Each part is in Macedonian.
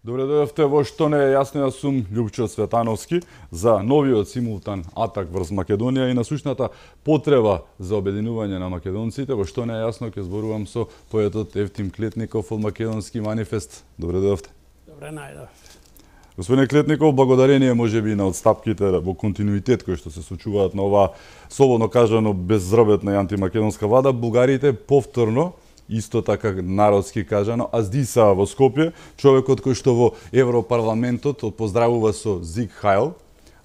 Добре дојдовте во Што не е јасно, јас сум Љупчо Цветановски за новиот симултан атак врз Македонија и насущната потреба за обединување на македонците. Во Што не е јасно ќе зборувам со поетот Евтим Клетников од Македонски манифест. Добре дојдовте. Добре најдов. Господине Клетников, благодарение можеби на отстапките во континуитет кои што се случуваат на оваа слободно кажано беззрбетна и антимакедонска влада, бугарите повторно исто така народски кажано, аздисаа во Скопје, човекот кој што во Европарламентот поздравува со Зиг Хајл,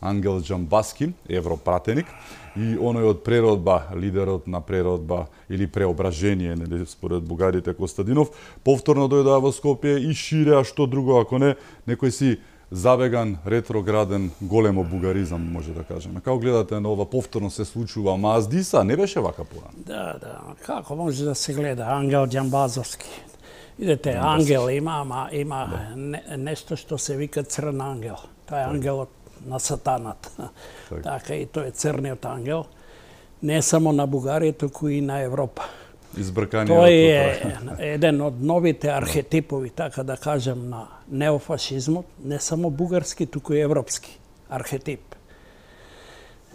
Ангел Џамбаски, европратеник, и оној од преродба, лидерот на преродба или преображение, нели според бугарите Костадинов, повторно дојдоа во Скопје и ширеа што друго, ако не, некој си забеган, ретрограден, големо бугаризам, може да кажеме. Како гледате на ова повторно се случува, ама аздиса не беше вака порано? Да, како може да се гледа Ангел Џамбазовски? Видете, ангел има нешто што се вика црн ангел. Тоа е ангелот на сатанат. Така и тој е црниот ангел. Не само на Бугарија, туку и на Европа. Тој е еден од новите архетипови, така да кажем, на неофашизмот, не само бугарски, туку и европски архетип.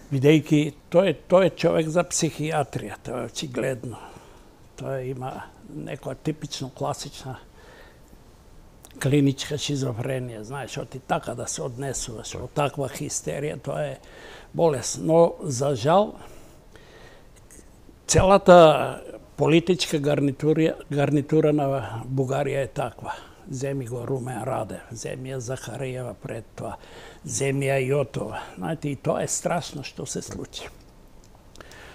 Бидејќи тој е човек за психијатрија, тоа е очигледно. Тој има некоја типично класична клиничка шизофренија, знаеш, оти така да се однесуваш, од таква хистерија, тоа е болест. Но, за жал, целата политичка гарнитура на Бугарија е таква. Земи го Румен Радев, земи ја Захариева пред тоа, земи ја Јотова. Знаете, и тоа е страшно што се случи.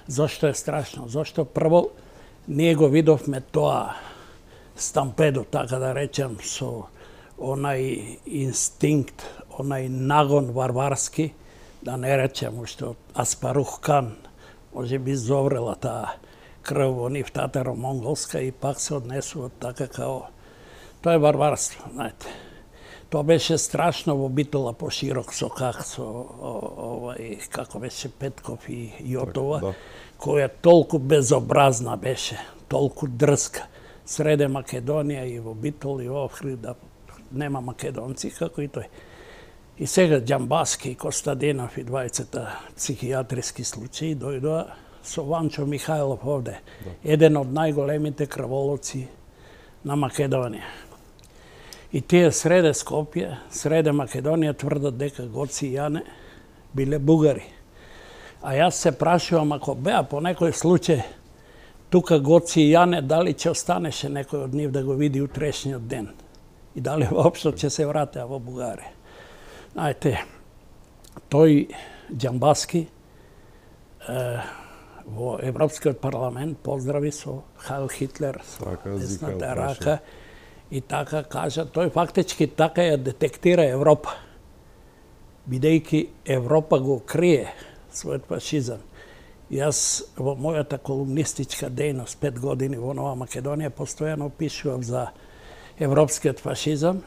Зошто е страшно? Зошто прво ние го видовме тоа стампедо, така да речем, со онај инстинкт, онај нагон варварски, да не речем уште од Аспарух Кан, може би зоврела таа крв во нив татаро-монголска и пак се однесува така као... Тоа е варварство, знаете. Тоа беше страшно во Битола по широк сокак со овај, како беше Петков и Јотова, која толку безобразна беше, толку дрска. Среде Македонија и во Битол и во Охрид, да нема македонци, како и тој. И сега Џамбаски и Костадинов и двајцата психијатриски случаи дојдоа со Ванчо Михајлов овде, еден од најголемите крволоци на Македонија. И тие среде Скопје, среде Македонија тврдат дека Гоци и Јане биле бугари. А јас се прашувам, ако беа по некој случај тука Гоци и Јане, дали ќе останеше некој од нив да го види утрешниот ден? И дали воопшто ќе се вратеа во Бугарија? Знаете, тој Џамбаски во Европскиот парламент поздрави со Хайл Хитлер, со десната рака, и така кажа, тој фактички така ја детектира Европа, бидејќи Европа го крие својот фашизам. Јас во мојата колумнистичка дејност 5 години во Нова Македонија постојано пишував за европскиот фашизам,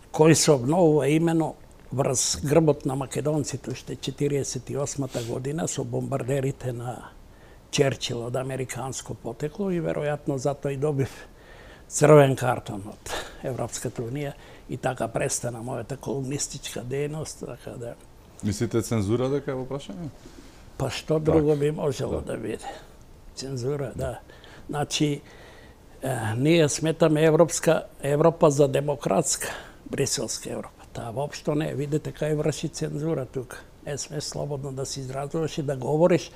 кој се обновува именно врз грбот на македонците уште 48-та година со бомбардерите на Черчил од американско потекло и веројатно затоа и добив црвен картон од Европската унија и така престана мојата колумнистичка дејност, така да... Мислите цензура дека е во прашање? Па што друго би можело да биде? Цензура, да. Значи, ние сметаме Европа за демократска, бриселска Европа. Таа воопшто не, видите кај врши цензура тука. Не сме слободно да се изразуваш и да говориш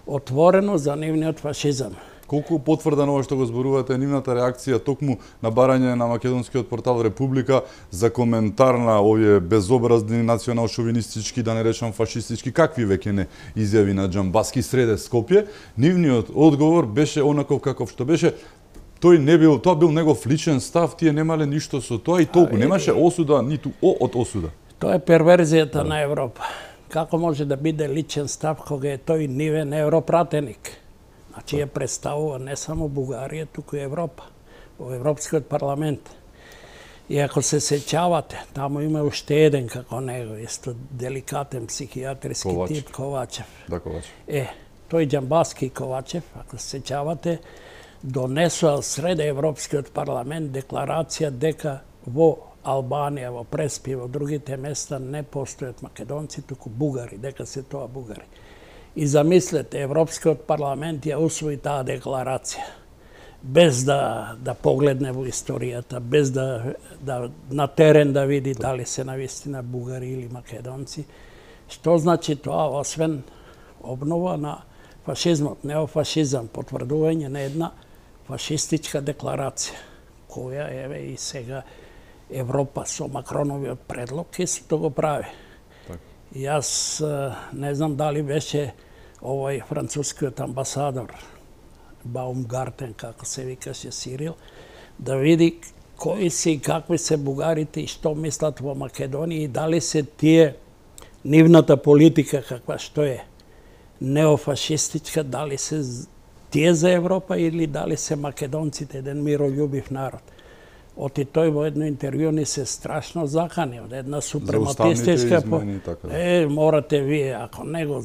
отворено за нивниот фашизам. Колку потврдено ова што го зборувате нивната реакција токму на барање на македонскиот портал Република за коментар на овие безобразни национал-шовинистички, да не речам фашистички, какви веќе не изјави на Џамбаски среде Скопје, нивниот одговор беше онаков каков што беше. Тој не бил, тоа бил негов личен став, тие немале ништо со тоа и толку, немаше осуда ниту од осуда. Тоа е перверзијата на Европа. како може да биде личен став кога е тој нивен европратеник? Значи ја представува не само Бугарија, туку и Европа, во Европскиот парламент. И ако се сеќавате, таму има уште еден како него, исто деликатен психијатриски тип Ковачев. Да, Ковачев. Тој Џамбаски Ковачев, ако се сеќавате, донесува сред Европскиот парламент декларација дека во Албанија, во Преспи, во другите места не постојат македонци, туку бугари, дека се тоа бугари. И замислете, Европскиот парламент ја усвои таа декларација, без да погледне во историјата, без да на терен да види дали се навистина бугари или македонци. Што значи тоа, освен обнова на фашизмот, неофашизам, потврдување на една фашистичка декларација, која еве и сега Европа со Макроновиот предлог исто го прави. И јас не знам дали беше овој францускиот амбасадор Баумгартен, како се викаше Сирил, да види кои се и какви се бугарите и што мислат во Македонија и дали се тие нивната политика каква што е неофашистичка, дали се тие за Европа или дали се македонците еден мирољубив народ. Оти тој во едно интервју ни се страшно закани од една супрематистичка морате вие, ако не го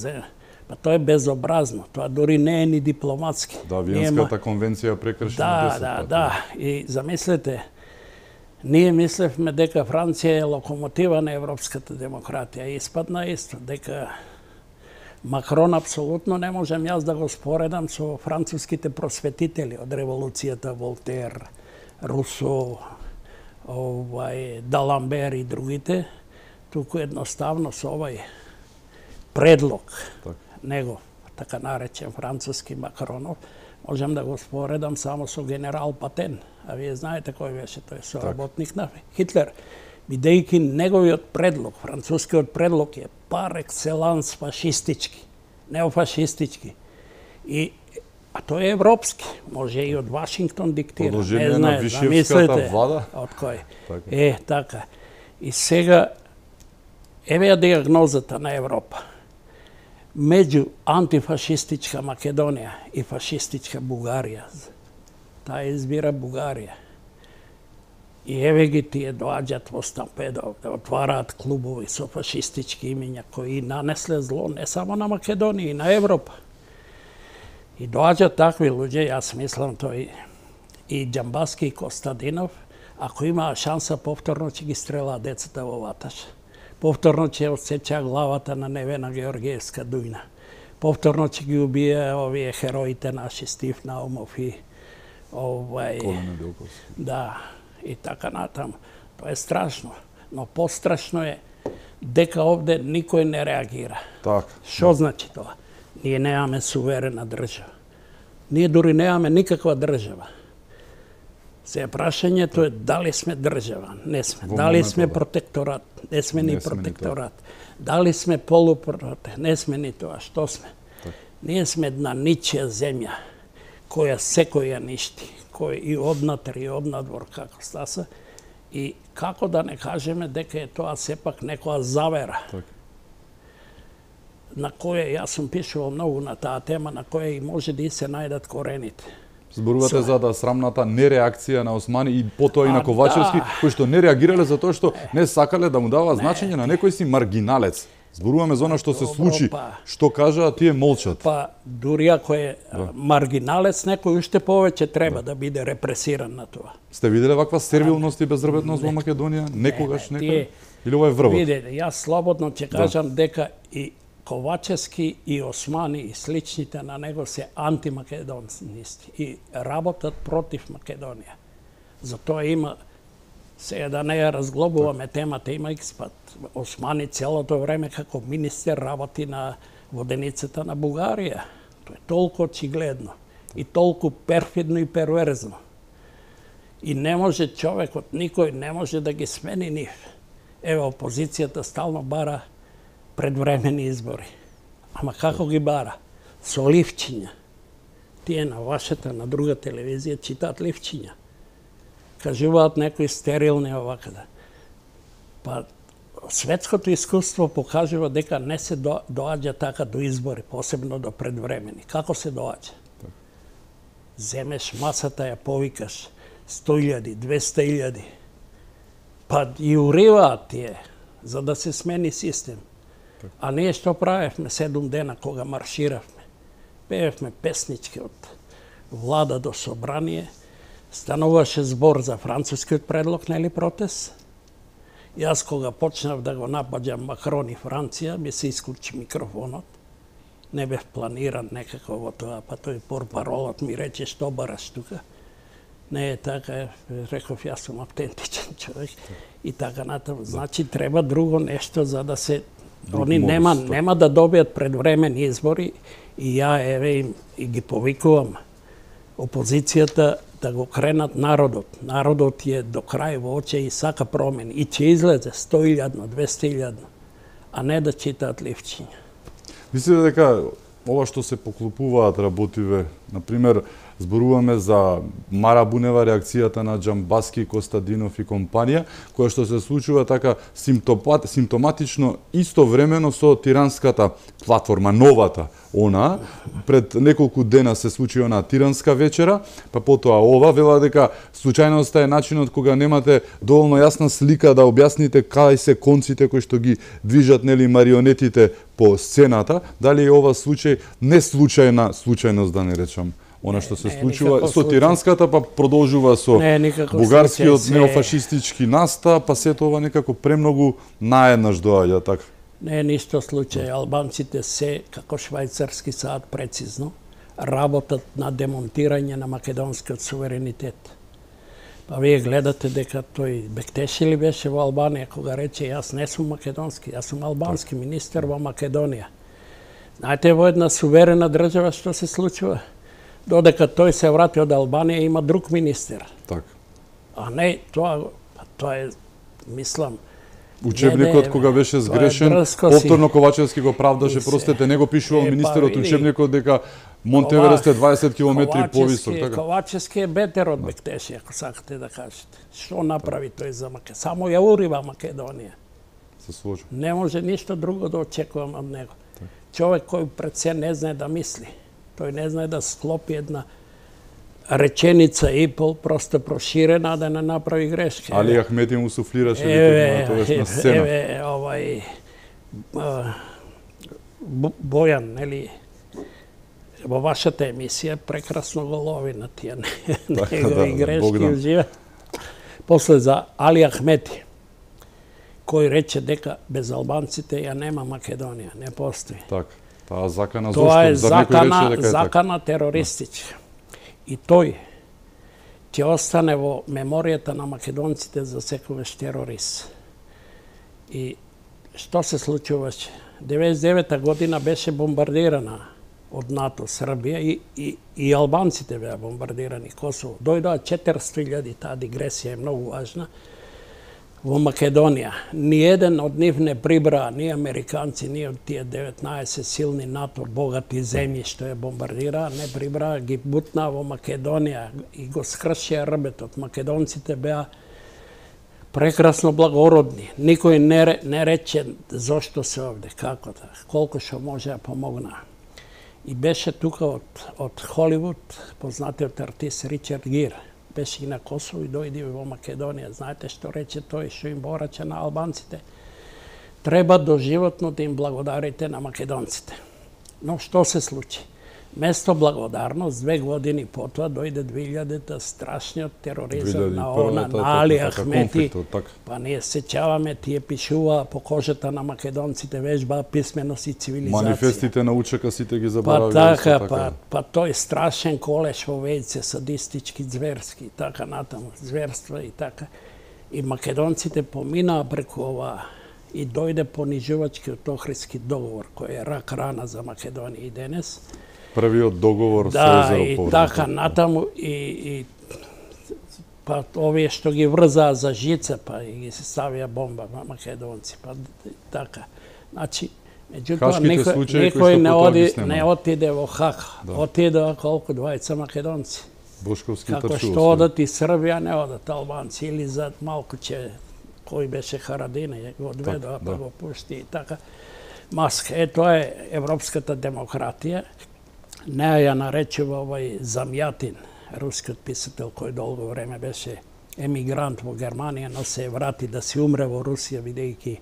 па тоа е безобразно, тоа дури не е ни дипломатски. Да, Виенската конвенција прекршена 10 пати. Да, и замислете, ние мислевме дека Франција е локомотива на европската демократија и испадна исто, дека Макрон апсолутно не можем јас да го споредам со француските просветители од револуцијата Волтер, Русо, Даламбер и другите, туку едноставно со овој предлог негов, така наречен француски Макронов, можем да го споредам само со генерал Патен. А вие знаете кој беше тој соработник на Хитлер. Бидејќи неговиот предлог, францускиот предлог е пар екселанс фашистички, неофашистички. А тој е европски, може и од Вашингтон диктира. Продолжение на Вишевската влада? Од кој? Така. И сега, еве ја диагнозата на Европа. Меѓу антифашистичка Македонија и фашистичка Бугарија. Таа избира Бугарија. И еве ги тие доаѓаат во стампедо, да отвараат клубови со фашистички имиња кои нанесле зло не само на Македонија и на Европа. И доаѓаат такви луѓе, јас мислам тој и Џамбаски и Костадинов, ако имаа шанса повторно ќе ги стрелаа децата во ваташ. Повторно ќе отсечаа главата на Невена Георгиевска Дујна. Повторно ќе ги убие овие хероите наши Стив Наумов и Колина Белковски. Да, и така натаму. Тоа е страшно, но пострашно е дека овде никој не реагира. Така. Што значи тоа? Ние немаме суверена држава. Ние дури немаме никаква држава. Се прашањето е дали сме држава? Не сме. Дали сме протекторат? Не сме ни протекторат. Дали сме полупротекторат? Не сме ни тоа. Што сме? Ние сме една ничија земја, која секој ја ништи, кој и однатре и однадвор како стаса, и како да не кажеме дека е тоа сепак некоја завера. На која јас сум пишувал многу на таа тема, на која и може да и се најдат корените. Зборувате за срамната нереакција на Османи и потоа и на Ковачевски, кои што не реагирале затоа што не сакале да му дава значење на некој си маргиналец. Зборуваме за она што се случи, што кажа, тие молчат. Па дури ако е маргиналец, некој уште повеќе треба да биде репресиран на тоа. Сте виделе ваква сервилност и беззрбетност во Македонија? Некогаш некој? Или ова е врвот? Видете, јас слободно ќе кажам дека и Ковачевски и Османи и сличните на него се антимакедонисти и работат против Македонија. Затоа има, сега да не ја разглобуваме темата, има експат. Османи целото време како министер работи на воденицата на Бугарија. Тоа е толку очигледно и толку перфидно и перверзно. И не може човекот, никој не може да ги смени нив. Ево, опозицијата стално бара предвремени избори. Ама како ги бара? Со ливчиња. Тие на вашата, на друга телевизија читаат ливчиња. Кажуваат некои стерилни овака да. Па светското искуство покажува дека не се доаѓа така до избори, посебно до предвремени. Како се доаѓа? Земеш масата, ја повикаш 100.000, 200.000, па и уриваат тие, за да се смени систем. А ние што правевме 7 дена кога марширавме? Пеевме песнички од влада до собрание, стануваше збор за францускиот предлог, нели протест? Јас кога почнав да го напаѓам Макрон и Франција, ми се исклучи микрофонот. Не бев планиран некако во тоа, па тој портпаролот ми рече што бараш тука. Не е така, реков јас сум автентичен човек и така натаму. Значи треба друго нешто за да се они нема да добијат предвремени избори и ја еве и ги повикувам опозицијата да го кренат народот. Народот е до крај во оче и сака промени. И ќе излезе 100.000, 200.000, а не да читаат ливчиња. Мислите дека ова што се поклупуваат работиве, например, зборуваме за Мара Бунева, реакцијата на Џамбаски, Костадинов и компанија, која што се случува така симптоматично истовремено со тиранската платформа, новата, она, пред неколку дена се случи она тиранска вечера, па потоа ова, вела дека случајноста е начинот кога немате доволно јасна слика да објасните кај се конците кои што ги движат, нели, марионетите по сцената, дали е ова случај не случајност, да не речам, она што се случува со тиранската, па продолжува со бугарскиот неофашистички настап, па сето ова некако премногу наеднаш доаѓа така. Не е ништо случај. Албанците се, како швајцарски сад, прецизно работат на демонтирање на македонскиот суверенитет. Па вие гледате дека тој Бектеши ли беше во Албанија кога рече јас не сум македонски, јас сум албански министер во Македонија. Знаете во една суверена држава што се случува? Додека тој се врати од Албанија има друг министер. Така. А не тоа е мислам учебникот кога беше сгрешен, повторно Ковачевски го правдаше, простете, не го пишувал министерот учебникот дека Монтеверест е 20 километри повисок, така. Ковачевски е бетер од Бектеши, ако сакате да кажете. Што направи тој за Македонија? Само ја урива Македонија. Се сложи. Не може ништо друго да очекувам од него. Човек кој пред се не знае да мисли. Тој не знае да склопи една реченица и пол просто проширена да не направи грешка. Али Ахмети му суфлираше тоа на сцена. Бојан, нели, во вашата емисија прекрасно го лови на тие негови грешки ужива. После за Али Ахмети, кој рече дека без албанците ја нема Македонија, не постои. Така. Таа закана тоа е закана терористичка. И тој ќе остане во меморијата на македонците за секогаш терорист. И што се случуваше? 99-та година беше бомбардирана од НАТО Србија и албанците беа бомбардирани Косово. Дојдоа 400.000, таа дигресија е многу важна, во Македонија. Ниеден од нив не прибраа, ни американци, ни од тие 19 силни НАТО богати земји што ја бомбардираа, не прибраа, ги бутнаа во Македонија и го скршија рбетот. Македонците беа прекрасно благородни. Никој не рече зошто се овде, како да, колку што може да помогнаа. И беше тука од Холивуд познатиот артист Ричард Гир. Беше и на Косово и дојде во Македонија. Знаете што рече тој, што им бораче на албанците? Треба доживотно да им благодарите на македонците. Но што се случи? Место благодарност, 2 години потоа дојде 2000-та страшниот тероризам на Али Ахмети. Па ние сеќаваме, тие пишуваа по кожата на македонците, вежбаа писменост и цивилизација. Манифестите на УЧК сите ги заборавиле. Па тој страшен колеш во Вејце, садистички, зверски, така натаму, зверства и така. И македонците поминаа преку ова и дојде понижувачкиот Охридски договор, кој е рак рана за Македонија и денес. Првиот договор со Езерополе. Да, и така натаму и па овие што ги врзаа за жица, па и ги се ставија бомба на македонци, па така. Значи, меѓутоа некој не отиде во Хаг, отидоа колку 20 македонци. Бошковски како што одат и Србија, не одат албанци, или за малку ќе кој беше Харадина, го одведоа, па да. го пушти и така. Маска, тоа е европската демократија. Неа ја наречува овај Замјатин, рускиот писател кој долго време беше емигрант во Германија, но се врати да се умре во Русија, бидејќи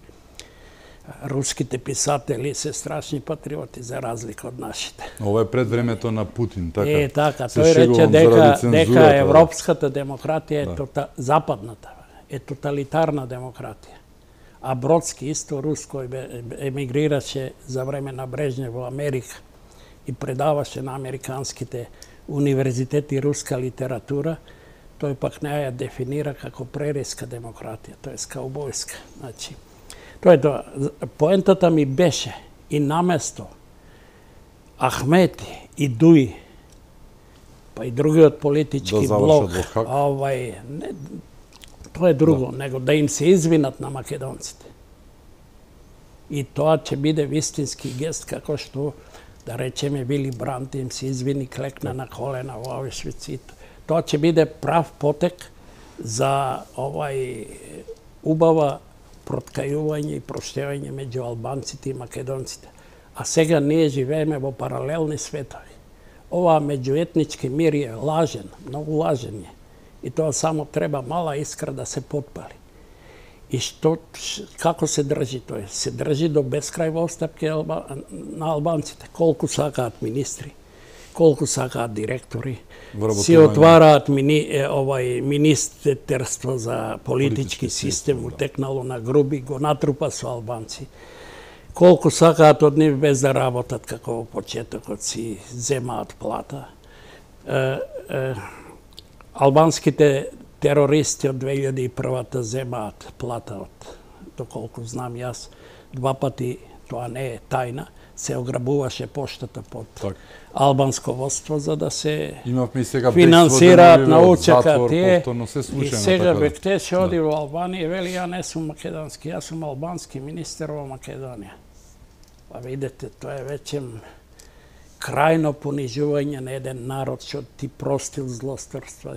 руските писатели се страшни патриоти за разлика од нашите. Ова е пред времето на Путин, така. Така, Се тој рече шегувам дека заради цензурата, европската демократија е западната е тоталитарна демократија. А Бродски исто рус кој емигрираше за време на Брежнев во Америка и предаваше на американските универзитети руска литература, тој пак не ја дефинира како прериска демократија, тоа е каубојска. Значи, тоа е тоа. Поентата ми беше и наместо Ахмети и Дуи, па и другиот политички блок, тоа е друго, него да им се извинат на македонците. И тоа ќе биде вистински гест, како што, да речеме, Вили Брант им се извини, клекна на колена во Аушвиц. Тоа ќе биде прав потек за убава проткајување и проштевање меѓу албанците и македонците. А сега ние живееме во паралелни светови. Ова меѓуетнички мир е лажен, многу лажен е. И тоа само треба мала искра да се потпали. И како се држи тој? Се држи до бескрај во оставки на албанците. Колку сакаат министри, колку сакаат директори, си отвараат министерство за политички систем, утекнало на груби, го натрупа со албанци. Колку сакаат од нив без да работат, како во почетокот си земаат плата. Албанските терористи од 2001-та земаат плата од, доколку знам јас, 2 пати, тоа не е тајна, се ограбуваше поштата под албанско водство за да се финансираат научака тие. И сега Бектеш оди во Албанија и вели, ја не сум македонски, јас сум албански министер во Македонија. Па видите, тоа е веќе крајно понижување на еден народ, што ти простил злосторства,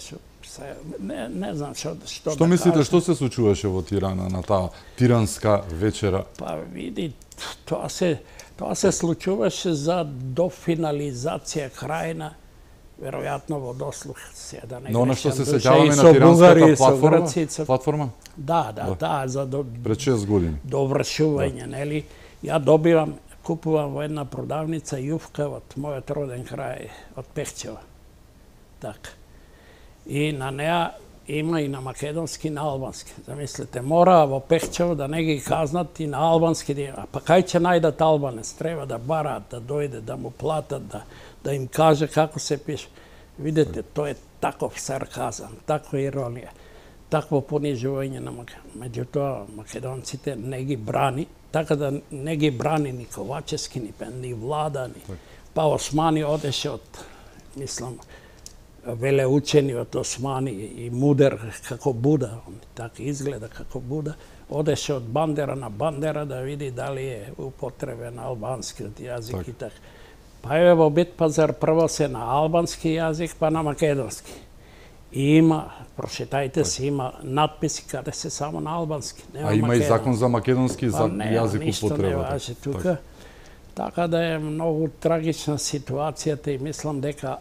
не знам што Што мислите, што се случуваше во Тирана на таа тиранска вечера? Па види, тоа се случуваше за дофинализација крајна, веројатно во дослух се да не грешам. Но она што се сеќаваме на тиранската платформа? Да, за пред 6 години. Довршување, нели? Ја купувам во една продавница јуфка од мојот роден крај, од Пехчева. Така. И на неа има и на македонски и на албански. Замислете, мора во Пехчево да не ги казнат и на албански да има. Па кај ќе најдат албанец? Треба да бараат, да дојде, да му платат, да им каже како се пише. Видете, тоа е таков сарказам, таква иронија, такво понижување на македонците. Меѓутоа, македонците не ги брани, така да не ги брани ни Ковачевски, ни влада, ни... Па Османи одеше од, мислам, велеучениот Османи и мудер како Буда, така изгледа како Буда, одеше од бандера на бандера да види дали е употребен албанскиот јазик и така. Па еве во Бит Пазар прво се на албански јазик, па на македонски. И има, прошетајте се, има надписи каде се само на албански. А има и закон за македонски јазик употреба. Ништо не важи тука. Така да е многу трагична ситуацијата и мислам дека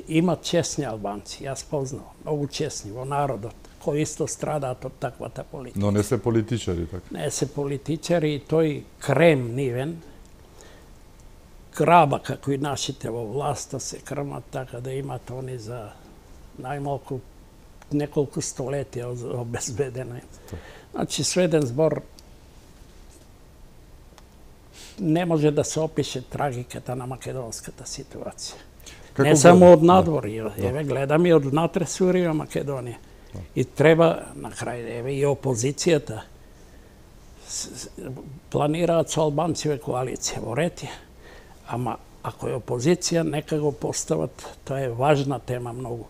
има честни албанци, јас познавам, многу честни во народот, кои исто страдаат од таквата политика. Но не се политичари, така? Не се политичари и тој крем нивен, граба како и нашите во власта се крмат, така да имат они за најмалку неколку столетија обезбедено. Значи, сведен збор, не може да се опише трагиката на македонската ситуација. Не само од надвор, еве гледам и од внатре Сурија, Македонија. И треба, на крај, еве и опозицијата, планираат со албанциве коалиција во Ретија. Ама, ако е опозиција, нека го постават, тоа е важна тема многу.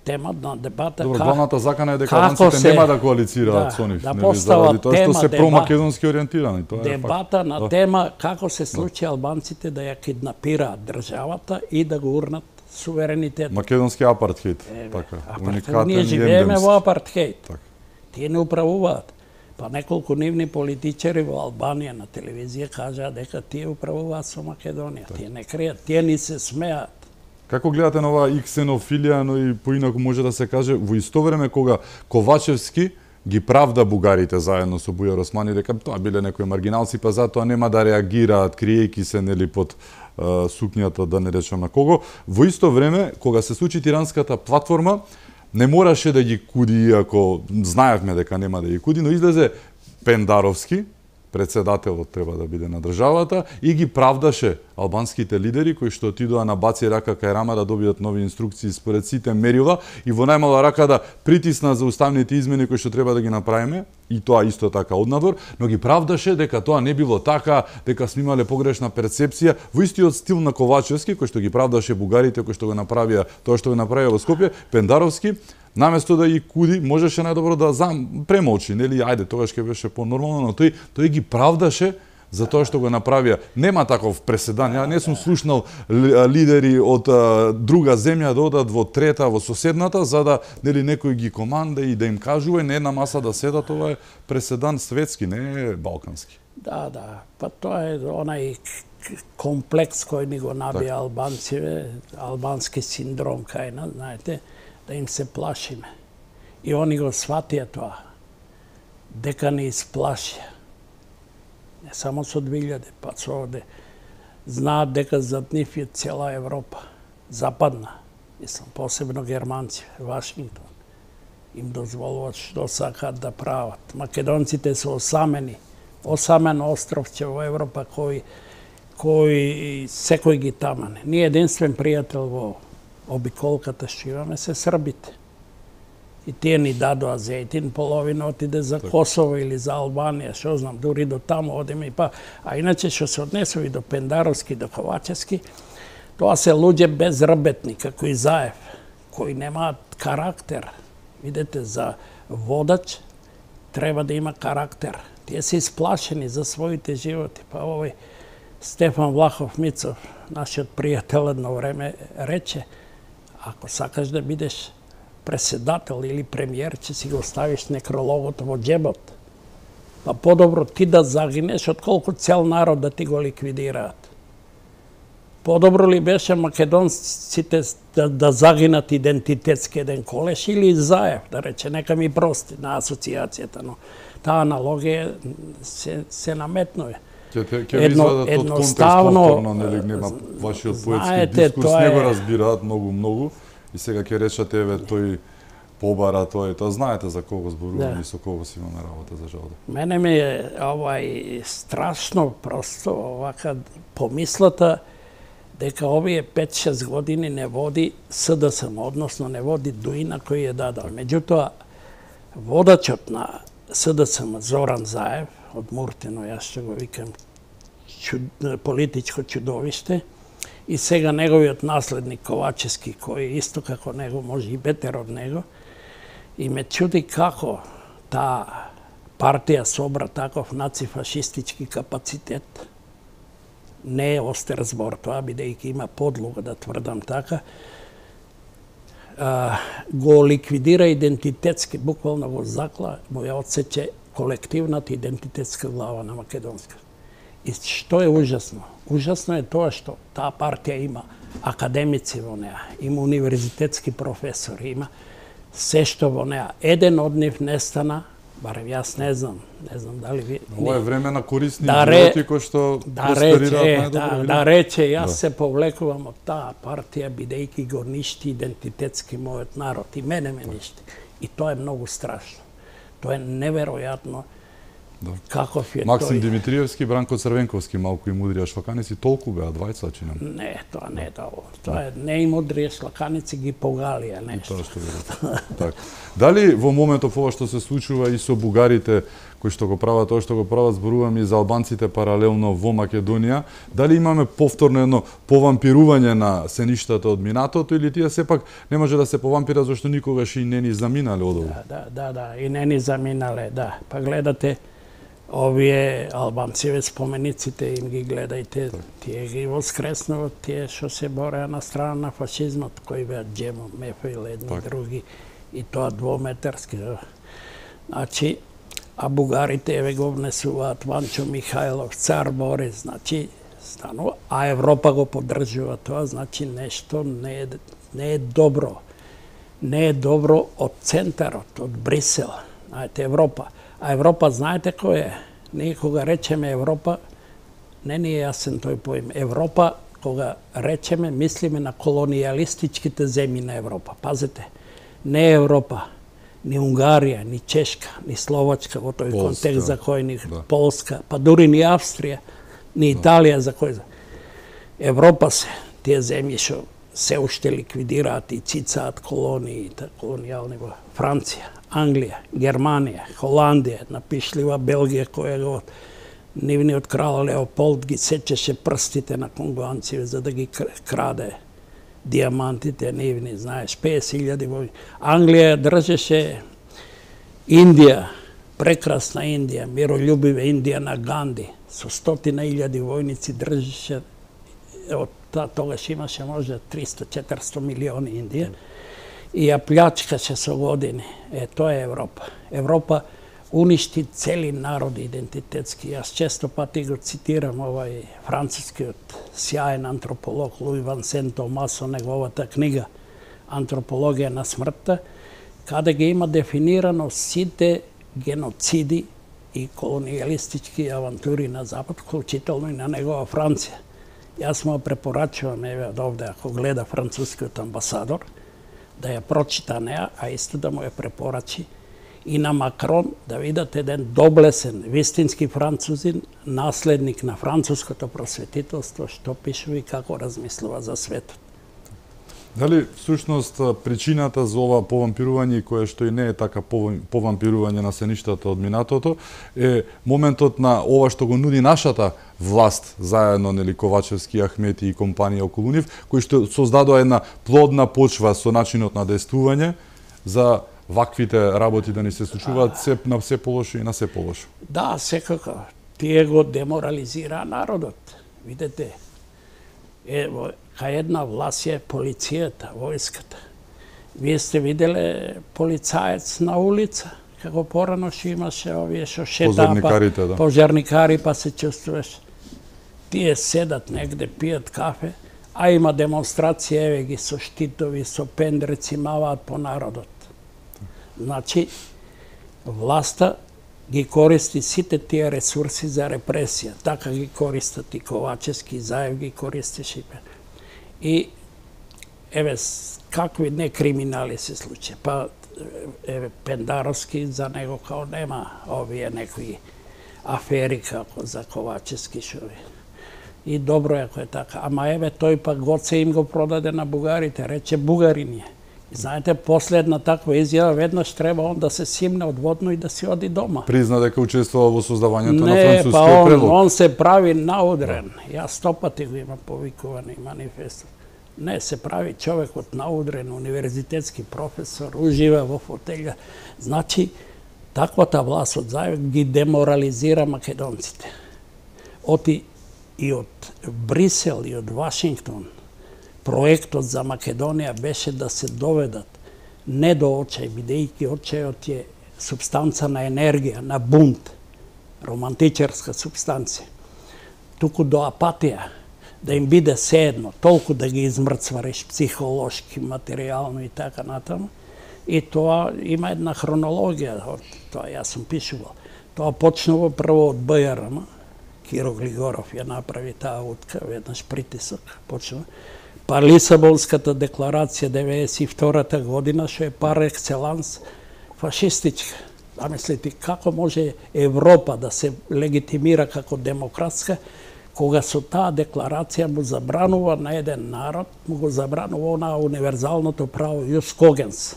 Тема на дебата Добро, главната закана е дека албанците нема да коалицираат со нив, заради тоа што се промакедонски ориентирани. Дебата на тема како се случи албанците да ја киднапираат државата и да го урнат суверенитет. Македонски апартхејд, така, уникатен и ние живееме во апартхејд. Тие не управуваат. Па неколку нивни политичари во Албанија на телевизија кажаа дека тие управуваат со Македонија. Тие не кријат, тие ни се смеат. Како гледате на оваа и ксенофилија, но и поинаку може да се каже, во исто време кога Ковачевски ги правда бугарите заедно со Бујар Османи дека тоа биле некои маргиналци, па затоа нема да реагираат криејки се нели под сукњата, да не речам на кого. Во исто време кога се случи Тиранската платформа, не мораше да ги куди, иако знаевме дека нема да ги куди, но излезе Пендаровски, председателот треба да биде на државата, и ги правдаше албанските лидери кои што отидоа на баци рака кај Рама да добијат нови инструкции според сите мерила и во најмала рака да притисна за уставните измени кои што треба да ги направиме, и тоа исто така однадвор, но ги правдаше дека тоа не било така, дека сме имале погрешна перцепција, во истиот стил на Ковачевски, кој што ги правдаше бугарите, кои што го направија тоа што го направија во Скопје. Пендаровски наместо да ги куди, можеше најдобро да премолчи, нели, ајде, тогаш ќе беше понормално, но тој ги правдаше за тоа што го направија. Нема таков преседан. Ја не сум слушнал лидери од друга земја да одат во трета, во соседната, за да нели некој ги команда и да им кажува и на една маса да седат. Ова е преседан светски, не е балкански. Да, да. Па тоа е онај комплекс кој ни го набија албанците, албански синдром кај нас, знаете, да им се плашиме. И они го сватија тоа, дека не исплашија. Не само со 2000, па со овде. Знаат дека зад нив е цела Европа, западна, мислам, посебно германци, Вашингтон. Им дозволуват што сакаат да прават. Македонците се осамени, осамен островче во Европа кој секој ги тамане. Ние единствен пријател во обиколката што имаме се србите. И тие ни дадоа зејтин, половина отиде за Косово или за Албанија, што знам, дури до таму одиме и па. А иначе што се однесови до Пендаровски, до Ковачевски, тоа се луѓе безработни, како и Заев, кои немаат карактер. Видете, за водач треба да има карактер. Тие се исплашени за своите животи. Па овој Стефан Влахов Мицов, нашиот пријател, едно време рече: ако сакаш да бидеш преседател или премиер, че си го ставиш некрологот во џебот. Па подобро ти да загинеш, отколку цел народ да ти го ликвидираат. Подобро ли беше македонците да загинат идентитетски еден Колеш или Заев, да рече, нека ми прости на асоциацијата, но таа аналогија се наметнува. Ќе ви извадат од контекст повторно, нели, нема вашиот поетски дискурс, не го разбираат многу, и сега ќе речате, еве, тој побара, тој, знаете за кого зборуваме и со кого си имаме работа, за жал. Мене ми е страшно просто овака помислата дека овие 5-6 години не води СДСМ, односно не води Дуина кој е дадал. Меѓутоа, водачот на СДСМ Зоран Заев, од Муртино, јас што го викам политичко чудовиште, и сега неговиот наследник Ковачевски, кој исто како него, може и бетер од него, и ме чуди како таа партија собра таков нацифашистички капацитет. Не е остер збор тоа, бидејќи има подлога да тврдам така, го ликвидира идентитетски, буквално го закла, му ја отсече колективната идентитетска глава на македонска. И што е ужасно? Ужасно е тоа што таа партија има академици во неа, има универзитетски професори, има се што во неа. Еден од нив нестана, барем јас не знам дали ви... Ова е време на корисни животи кои што просперираат најдобро. Да рече, јас се повлекувам од таа партија, бидејќи го ништи идентитетски мојот народ, и мене ме ништи. И тоа е многу страшно. Тоа е неверојатно. Каков е Максим тој? Димитриевски, Бранко Црвенковски, малку и мудрија шлаканици, толку беа, двајца чинам. Не, тоа не е тоа. Тоа е не и мудрија шлаканици ги погалија нешто. Тоа што ви така. Дали во моментов ова што се случува и со бугарите кои што го прават тоа што го прават, зборувам и за албанците паралелно во Македонија, дали имаме повторно едно повампирување на сеништата од минатото, или тие сепак не може да се повампира зашто никогаш и не ни заминале од ова? Да, и не ни заминале, да. Па гледате, овие албанциве спомениците им ги гледајте, тие ги воскреснуват, тие што се бореа на страна на фашизмот, кои беа Джемо, Мефаил, едни други, и тоа двометарски. Значи, а бугарите еве го внесуваат Ванчо Михајлов, Цар Борис, значи станува, а Европа го поддржува тоа, значи нешто не е добро. Не е добро од центарот, од Брисел, знаете, Европа. А Европа, знаете кој е? Ние кога речеме Европа, не ни е јасен тој поим. Европа, кога речеме, мислиме на колонијалистичките земји на Европа. Пазете, не е Европа, ни Унгарија, ни Чешка, ни Словачка во тој контекст за кој ни Полска, па дури ни Австрија, ни Италија за кој. Европа се, тие земји што се уште ликвидираат и цицаат колонии, колонијални во Франција, Англија, Германија, Холандија, напишлива Белгија која го нивниот крал Леополд ги сечеше прстите на конгуанци за да ги краде диамантите нивни, знаеш, 50.000 војни. Англија држеше Индија, прекрасна Индија, миролюбива Индија на Ганди, со 100.000 војници држеше, од тогаш имаше може 300-400 милиони Индија, и ја плячкаше со години. Тоа е Европа. Европа уништи цели народи идентитетски. Јас често пати го цитирам овај францускиот сјаен антрополог Луи Вансен Томасо, неговата книга Антропологија на смртта, каде ги има дефинирано сите геноциди и колонијалистички авантури на Запад, вклучително и на негова Франција. Јас му препорачувам, еве од овде, ако гледа францускиот амбасадор, да ја прочита неа, а исто да му ја препорачи и на Макрон, да видат еден доблесен, вистински французин, наследник на француското просветителство, што пишува и како размислува за светот. Дали всушност причината за ова повампирување, кое што и не е така повампирување на сеништата од минатото, е моментот на ова што го нуди нашата власт, заедно нели Ковачевски, Ахмети и компанија околу нив, кои што создадоа една плодна почва со начинот на действување за ваквите работи да ни се случуваат на се полошо и на се полошо. Да, секако. Тие го деморализираа народот. Видете, кај една власт е полицијата, војската. Вие сте виделе полицаец на улица, како порано што имаше овие што шетаа, пожарникари, па се чувствуваш. Тие седат негде, пијат кафе, а има демонстрација, еве ги со штитови, со пендреци, маваат по народот. Значи, власта ги користи сите тие ресурси за репресија. Така ги користат и Ковачевски, Заев ги користеше. И, еве, какви не криминали се случи. Па, еве, Пендаровски, за него као нема овие некои афери како за Ковачевски шови. И добро е ако е така. Ама еве, тој пак Гоце им го продаде на бугарите, рече бугарин е. Знаете, последна таква изјава, веднаш треба он да се симне одводно и да си оди дома. Призна дека учествува во создавањето на францускиот предлог. Не, па он се прави наудрен. Јас 100 пати го има повикувани манифестот. Не, се прави човекот наудрен, универзитетски професор, ужива во фотелја. Значи, таквата власт од Заев ги деморализира македонците. Оти и од Брисел и од Вашингтон, проектот за Македонија беше да се доведат не до очај, бидејќи очајот е субстанца на енергија, на бунт, романтичарска субстанција, туку до апатија, да им биде седно, толку да ги измрцвариш психолошки, материјално и така натаму. И тоа има една хронологија, тоа јас сум пишувал. Тоа почнува прво од БРМ, Киро Глигоров ја направи таа утка, веднаш притисок почнува. Па Лисабонската декларација 92-та година, што е пар екселанс фашистичка. Замислите, како може Европа да се легитимира како демократска, кога со таа декларација му забранува на еден народ, му го забранува онаа универзалното право Јус Когенс.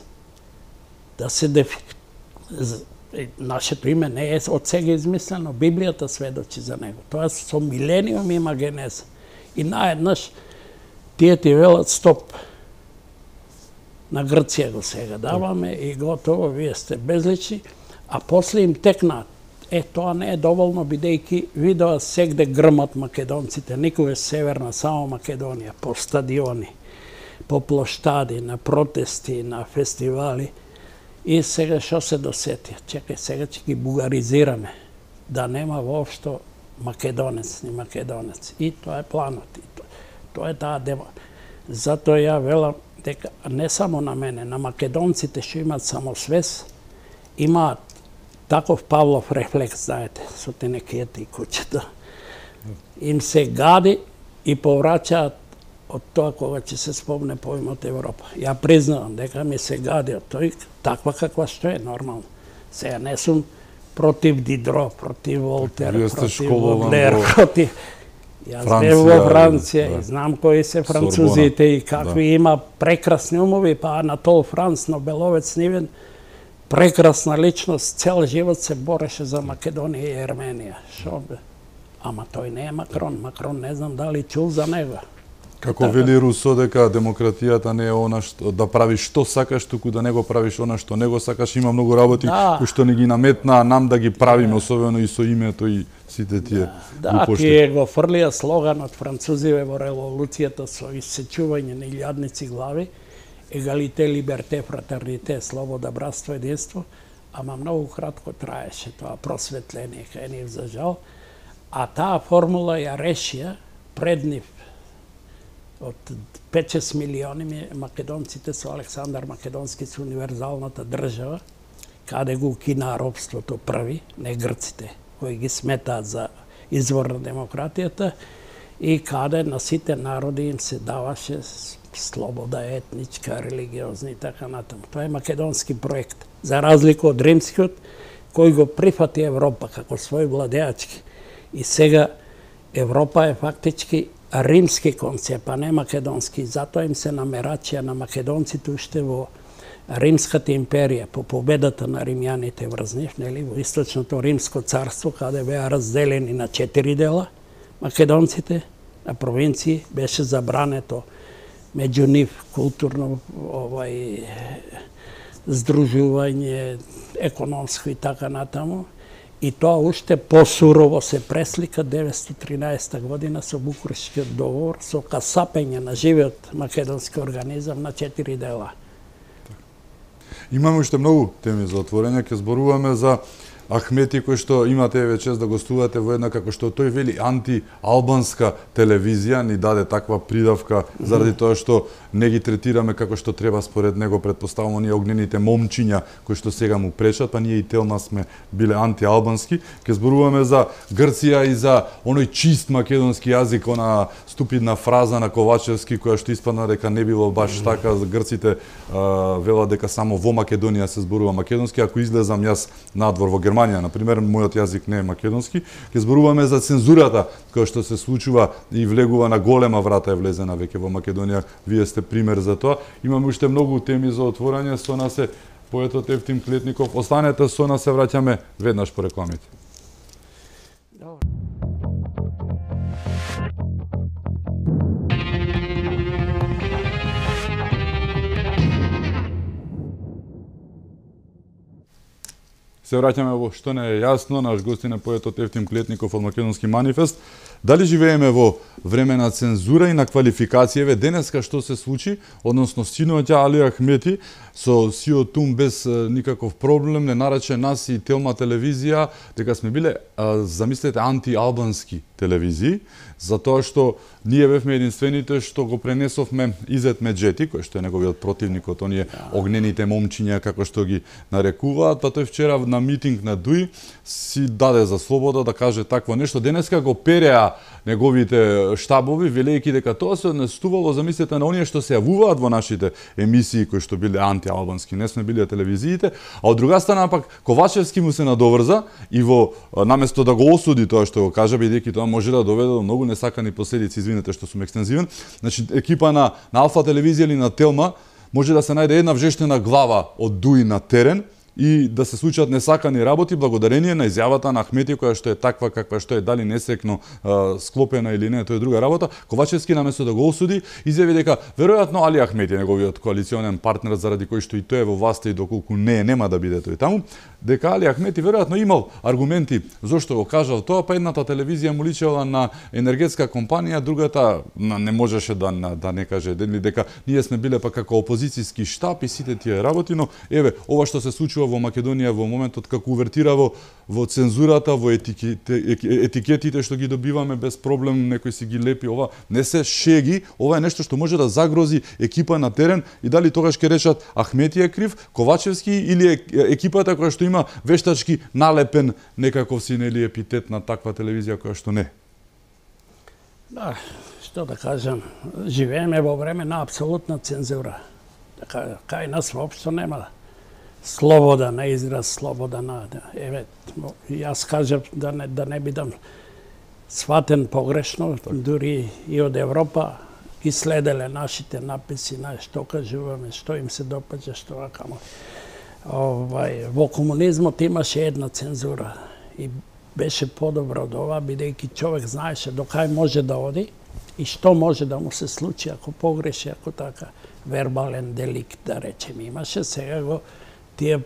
Да се нашето име не е од сега измислено, Библијата сведочи за него. Тоа со милениум има генеза. И наеднаш тие ти велат стоп. На Грција го сега даваме и готово, вие сте безлични, а после им текнаат. Тоа не е доволно, бидејќи видоа сегде грмат македонците, никогаш северна, само Македонија, по стадиони, по плоштади, на протести, на фестивали. И сега што се досети? Чекај, сега ќе ги бугаризираме. Да нема воопшто македонец, ни македонец. И тоа е планот. И тоа е таа демо. Затоа ја велам дека не само на мене, на македонците што имаат самосвест, имаат таков Павлов рефлекс, знаете, со тенекијата и куќата. Им се гади и повраќаат од тоа кога ќе се спомне поимот Европа. Ја признавам дека ми се гади од тој таква каква што е нормално. Сега не сум против Дидро, против Волтер, против Бодлер, против... Јас бев во Франција и знам кои се французите и какви има прекрасни умови, па Анатол Франц, Нобеловец нивен, прекрасна личност, цел живот се бореше за Македонија и Ерменија. Шо бе? Ама тој не е Макрон. Макрон не знам дали чул за него. Како вели Русо дека демократијата не е она што да правиш што сакаш, туку да не го правиш она што не го сакаш. Има многу работи кои што не ги наметна нам да ги правиме, особено и со името и сите тие глупошти. Тие го фрлија слоганот французиве во револуцијата со исечување на илјадници глави, егалите, либерте, фратерните, слобода, братство, единство, ама многу кратко траеше тоа просветление кај нив за жал, а таа формула ја решија пред нив од 5-6 милиони македонците со Александар Македонски со универзалната држава, каде го укина робството први, не грците, кои ги сметаат за извор на демократијата, и каде на сите народи им се даваше слобода етничка, религиозна и така натаму. Тоа е македонски проект. За разлика од римскиот, кој го прифати Европа како свој владеачки. И сега Европа е фактички римски концепт, а не македонски. Затоа им се намерачија на македонците уште во Римската империја, по победата на римјаните врз нив, нели, во Источното Римско царство, каде беа разделени на 4 дела, македонците, на провинции, беше забрането меѓу нив културно здружување, економско и така натаму. И тоа уште посурово се преслика 1913 година со Букурештскиот договор, со касапење на живиот македонски организам на 4 дела. Имаме уште многу теми за отворење, ќе зборуваме за Ахмети, кој што имате еве чест да гостувате во една, како што тој вели, анти-албанска телевизија, ни даде таква придавка заради тоа што не ги третираме како што треба според него, предпоставувам оние огнените момчиња кои што сега му пречат, па ние и Телма сме биле анти-албански. Ќе зборуваме за Грција и за оној чист македонски јазик, она ступидна фраза на Ковачевски која што испадна дека не било баш така. Грците велат дека само во Македонија се зборува македонски. Ако излезам јас надвор во Германија, например, мојот јазик не е македонски. Ќе зборуваме за цензурата која што се случува и влегува на голема врата, е влезена веќе во Македонија. Вие сте пример за тоа. Имаме уште многу теми за отворање. Со нас е поетот Евтим Клетников. Останете со нас, се враќаме веднаш по рекламите. Се враќаме во Што не е јасно. Наш гостин е поетот Евтим Клетников од Македонски манифест. Дали живееме во време на цензура и на квалификацијеве? Денеска што се случи, односно синоќа Али Ахмети со Сио Тум без никаков проблем не нарече нас и Телма телевизија дека сме биле, замислете, анти-албански телевизии, затоа што ние бевме единствените што го пренесовме Изет Меджети, кој што е неговиот противник од оние огнените момчиња, како што ги нарекуваат, па тој вчера на митинг на ДУИ си даде за слобода да каже такво нешто. Денеска го переа неговите штабови, велејќи дека тоа се однесувало, замислете, на оние што се јавуваат во нашите емисии кои што биле анти-албански, не сме биле телевизиите, а од друга страна пак Ковачевски му се надоврза и во наместо да го осуди тоа што го кажа, бидејќи тоа може да доведе до многу несакани последици, извинете што сум екстензивен. Значи екипа на Алфа телевизија или на Телма може да се најде една вжештена глава од ДУИ на терен и да се случат несакани работи благодарение на изјавата на Ахмети, која што е таква каква што е, дали несекно склопена или не, тоа е друга работа. Ковачевски наместо да го осуди, изјави дека веројатно Али Ахмети, неговиот коалиционен партнер, заради кој што и тој е во власта и доколку нема да биде тој таму, дека Али Ахмети веројатно имал аргументи зошто го кажал тоа, па едната телевизија му личела на енергетска компанија, другата не можеше да не каже дека ние сме биле па како опозицијски штаб и сите тие работи, но еве ова што се случува во Македонија во моментот како увертира во цензурата, во етикетите што ги добиваме без проблем, некој си ги лепи, ова не се шеги, ова е нешто што може да загрози екипа на терен и дали тогаш ќе речат Ахмети е крив, Ковачевски или екипата која што има вештачки налепен некаков си нели епитет на таква телевизија која што не. Да, што да кажам, живееме во време на апсолутна цензура. Така, кај нас воопшто нема слобода на израз, слобода на... Еве, јас кажам да не бидам сватен погрешно, дури и од Европа ги следеле нашите написи, на што кажуваме, што им се допаѓа, што вакамо. Во комунизмот имаше една цензура и беше подобро од ова, бидејќи човек знаеше до кај може да оди и што може да му се случи ако погреши, ако така вербален деликт, да речем, имаше. Сега го тие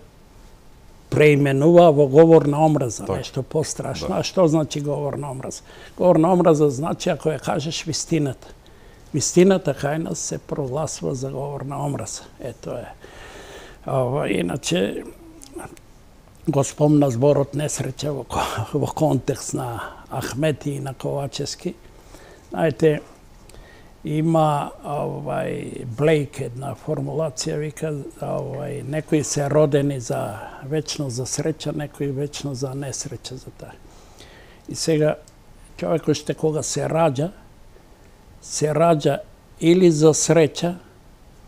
преименува во говор на омраза, нешто пострашно. Да. А што значи говор на омраза? Говор на омраза значи ако ја кажеш вистината. Вистината кај нас се прогласува за говор на омраза. Ето е. Иначе, го спомна зборот несреќа во контекст на Ахмети и на Ковачевски. Знаете, има Блейк една формулација, вика, некои се родени за вечно за среќа, некои вечно за несреќа за таа. И сега, човекот што кога се раѓа или за среќа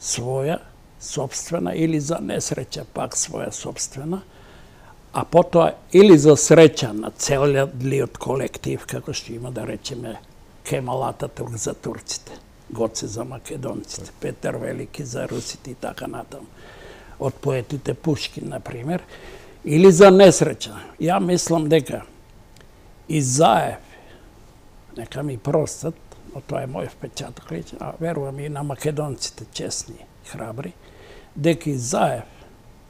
своја, собствена, или за несреќа пак своја собствена, а потоа или за среќа на целиот колектив, како што има да речеме Кемал Ататурк за турците, Гоце за македонците, Петар Велики за русите и така натаму. Од поетите Пушкин, например, или за несреќа. Ја мислам дека и Заев, нека ми простат, но тоа е мој впечаток личен, а верувам и на македонците честни и храбри, дека и Заев,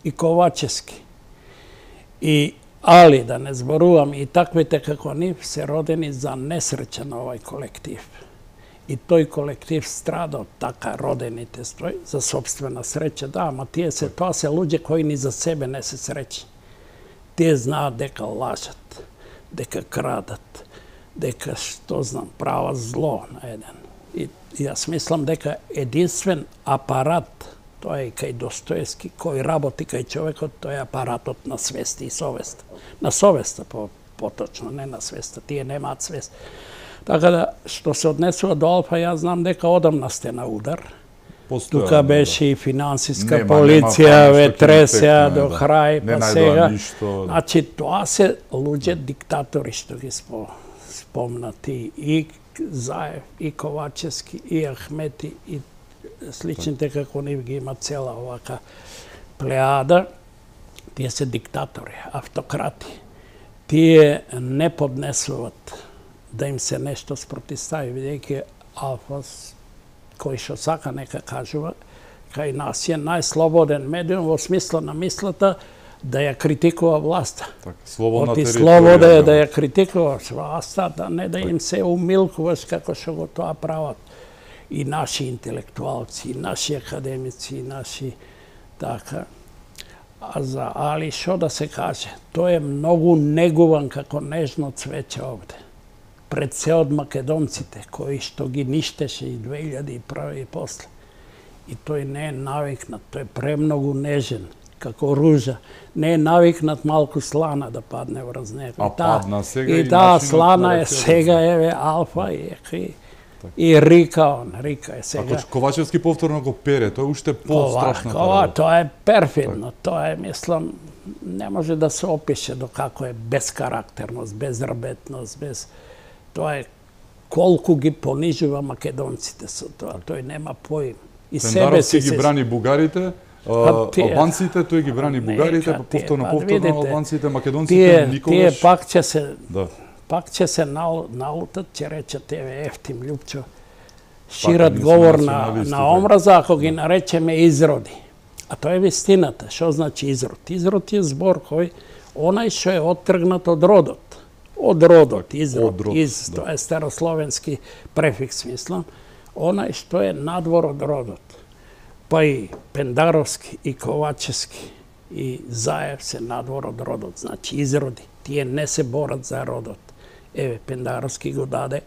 и Ковачевски, и Али, да не зборувам, и таквите како нив се родени за несреќа на овај колектив. И тој колектив страда од така родените за собствена среќа. Да, ама тоа се луѓе кои ни за себе не се среќни. Тие знаат дека лажат, дека крадат, дека, што знам, прават зло на еден. И јас мислам дека единствен апарат, тоа е и кај Достоевски, кој работи кај човекот, тоа е апаратот на свест и совест. На совеста, поточно, не на свеста. Тие немаат свест. Така да, што се однесува до Алфа, јас знам дека одамна сте на удар. Тука беше и финансиска полиција, ве тресеа до крај, па сега. Значи, тоа се луѓе диктатори што ги спомнати. И Заев, и Ковачевски, и Ахмети, и сличните како нив ги има цела овака плеада. Тие се диктатори, автократи. Тие не поднесуваат да им се нешто спротистави, бидејќи Алфа, кој што сака нека кажува, кај нас е најслободен медиум во смисла на мислата да ја критикува власта. Оти слобода е да ја критикуваш власта, да не да им се умилкуваш како што го тоа прават и наши интелектуалци, и наши академици, и наши така. А за Али што да се каже? Тој е многу негуван како нежно цвеќе овде. Пред се од македонците, кои што ги ништеше и 2001 и после. И тој не е навикнат, тој е премногу нежен, како ружа. Не е навикнат малку слана да падне врз него. А падна сега и таа слана е сега, еве, Алфа и Рика е сега. Ако Ковачевски повторно го пере, тоа е уште по-страшно. Тоа е перфидно, тоа е, мислам, не може да се опише до како е безкарактерност, безработност, без... Тоа е колку ги понижува македонците со тоа. Тој нема поим. И себе си ги брани бугарите, албанците, тој ги брани бугарите, Нека повторно видите, албанците, македонците никогаш пак ќе се налутат, ќе речат еве ефтим Лјупчо, шират говор на омраза, ако ги наречеме изроди. А тоа е вистината. Што значи изрод? Изрод е збор кој онај што е оттргнат од родот. Од родот, изрод, тоа е старословенски префикс, мислам. Онај што е надвор од родот. Па и Пендаровски, и Ковачевски, и Заев се надвор од родот, значи изроди. Тие не се борат за родот. Еве, Пендаровски го даде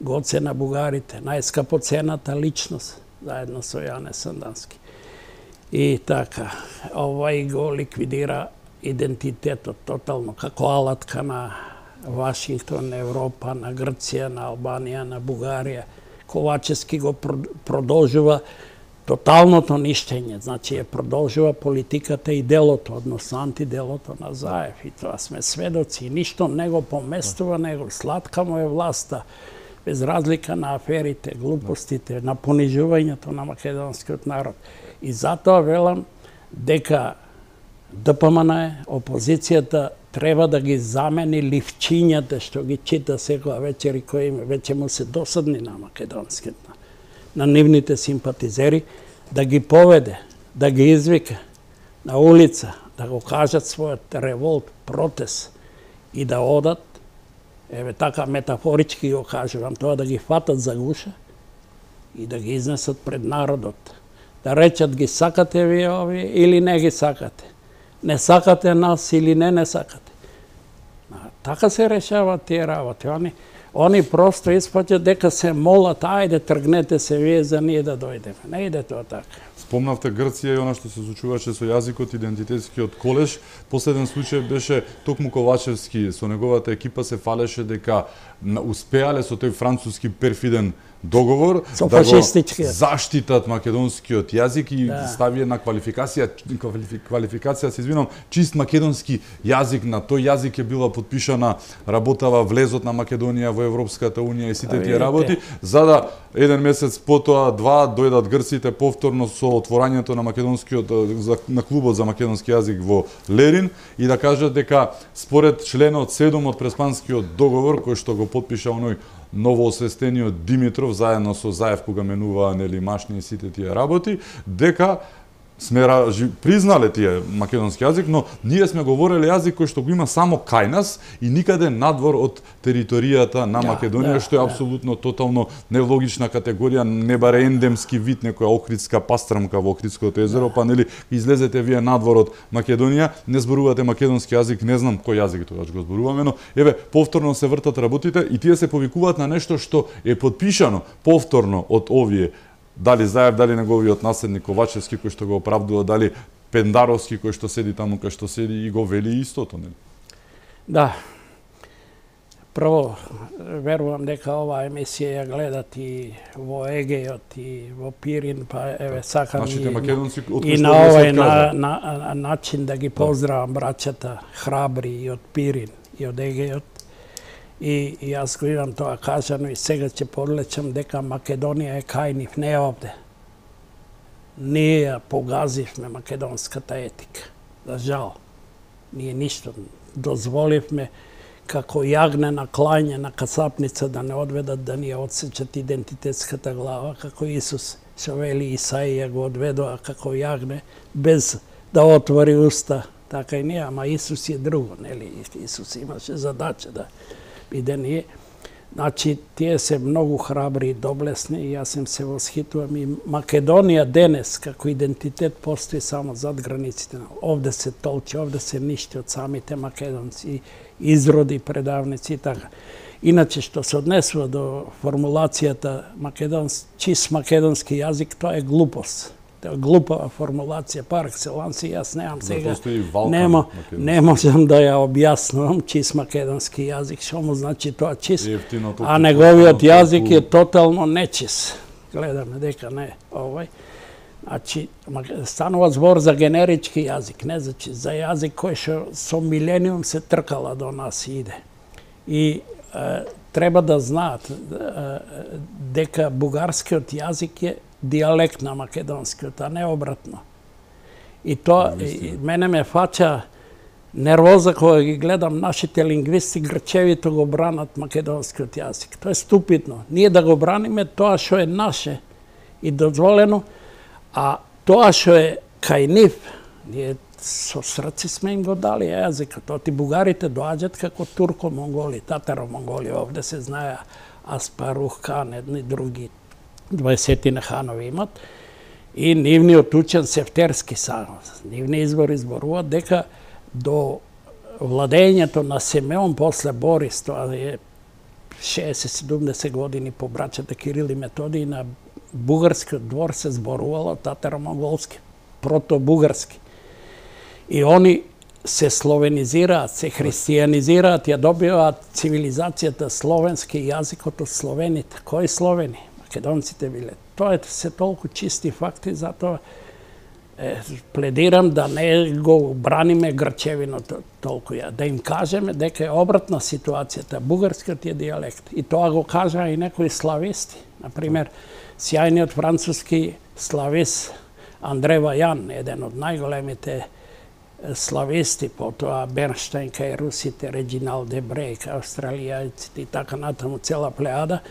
Гоце на бугарите, најскапоцената личност, заедно со Јане Сандански. И така, овај го ликвидира идентитетот тотално, како алатка на Вашингтон, Европа, на Грција, на Албанија, на Бугарија. Ковачевски го продолжува тоталното ништење, значи ја продолжува политиката и делото, односно антиделото на Заев. И тоа сме сведоци, ништо не го поместува, него сладка му е власта, без разлика на аферите, глупостите, на понижувањето на македонскиот народ. И затоа велам дека ДПМН, опозицијата, треба да ги замени ливчињата што ги чита секоја вечер и кои веќе му се досадни на македонските, на нивните симпатизери, да ги поведе, да ги извика на улица, да го кажат својот револт, протест и да одат, еве така метафорички го кажувам, тоа да ги фатат за гуша и да ги изнесат пред народот. Да речат ги сакате вие овие или не ги сакате. Не сакате нас или не сакате. Така се решават тие работи. Они просто испаќат дека се молат, ајде тргнете се вие за ние да дојдеме. Не иде тоа така. Спомнавте Грција и она што се случуваше со јазикот, идентитетскиот колеж. Последен случај беше токму Ковачевски, со неговата екипа се фалеше дека успеале со тој француски перфиден договор да го заштитат македонскиот јазик и стави една квалификација, се извинам, чист македонски јазик. На тој јазик е била подпишана работава влезот на Македонија во Европската унија и сите тие работи, за да еден месец потоа, два, дојдат грците повторно со отворањето на македонскиот на клубот за македонски јазик во Лерин и да кажат дека според членот 7 од Преспанскиот договор кој што го подпиша оној новоосвестениот Димитров заедно со Заев кога менуваа нели машни и сите тие работи, дека сме признале тие македонски јазик, но ние сме говореле јазик кој што го има само кај нас и никаде надвор од територијата на Македонија, што е апсолутно тотално нелогична категорија, не баре ендемски вид, некоја охридска пастрмка во Охридското езеро, па нели излезете вие надвор од Македонија, не зборувате македонски јазик, не знам кој јазик тогаш го зборуваме, но еве повторно се вртат работите и тие се повикуваат на нешто што е подпишано повторно од овие, дали Заев, дали неговиот наследник Ковачевски кој што го оправдува, дали Пендаровски кој што седи таму кај што седи и го вели истото, нели? Да. Прво, верувам дека оваа емисија ја гледат и во Егејот и во Пирин, па еве сакам и на овој начин да ги поздравам браќата храбри и од Пирин и од Егејот. И јас го имам тоа кажано и сега ќе подлечам дека Македонија е кај нив, не е овде. Ние ја погазивме македонската етика. За жал. Ние ништо дозволивме како јагне на клање на касапница да не одведат да ни ја одсечат идентитетската глава, како Исус, што вели Исаија го одведоа како јагне, без да отвори уста. Така и ние, ама Исус е друго, нели? Исус имаше задача да биде ние. Значи, тие се многу храбри и доблесни и јас им се восхитувам. И Македонија денес, како идентитет, постои само зад границите. Овде се толчи, овде се ништи од самите македонци, изроди, предавници и така. Иначе, што се однесува до формулацијата чист македонски јазик, тоа е глупост. Тоа е глупава формулација, пар екселанс, и јас немам сега, не можам да ја објаснувам чист македонски јазик, што му значи тоа чист, а неговиот јазик е тотално нечист. Гледаме дека не овој. Значи, станува збор за генерички јазик, не за чист, за јазик кој што со милениум се тркала до нас и иде. И треба да знаат дека бугарскиот јазик е дијалект на македонскиот, а не обратно. И тоа мене ме фаќа нервоза кога ги гледам нашите лингвисти грчевито го бранат македонскиот јазик. Тоа е ступидно. Ние да го браниме тоа што е наше и дозволено, а тоа што е кај нив, ние со срци сме им го дали јазикот. Оти бугарите доаѓаат како турко-монголи, татаро-монголи, овде се знае Аспарух хан, едни други 20 ханови имат. И нивниот учен Сефтерски само, нивни извори зборуваат дека до владењето на Симеон после Борис, тоа е 60-70 години по браќата Кирил и Методий, на бугарскиот двор се зборувало татаро-монголски, прото-бугарски. И они се словенизираат, се христијанизираат, ја добиваат цивилизацијата словенски јазикот од словените. Кои словени? Македонците биле. Тоа се толку чисти факти, затоа пледирам да не го браниме грчевиното толку ја. Да им кажеме дека е обратна ситуацијата, бугарскиот е дијалект. И тоа го кажа и некои слависти. Например, сјајниот француски славист Андре Вајан, еден од најголемите слависти, потоа Бернштайн кај русите, Реджинал Дебре, кај австралијаците и така натаму цела плеада,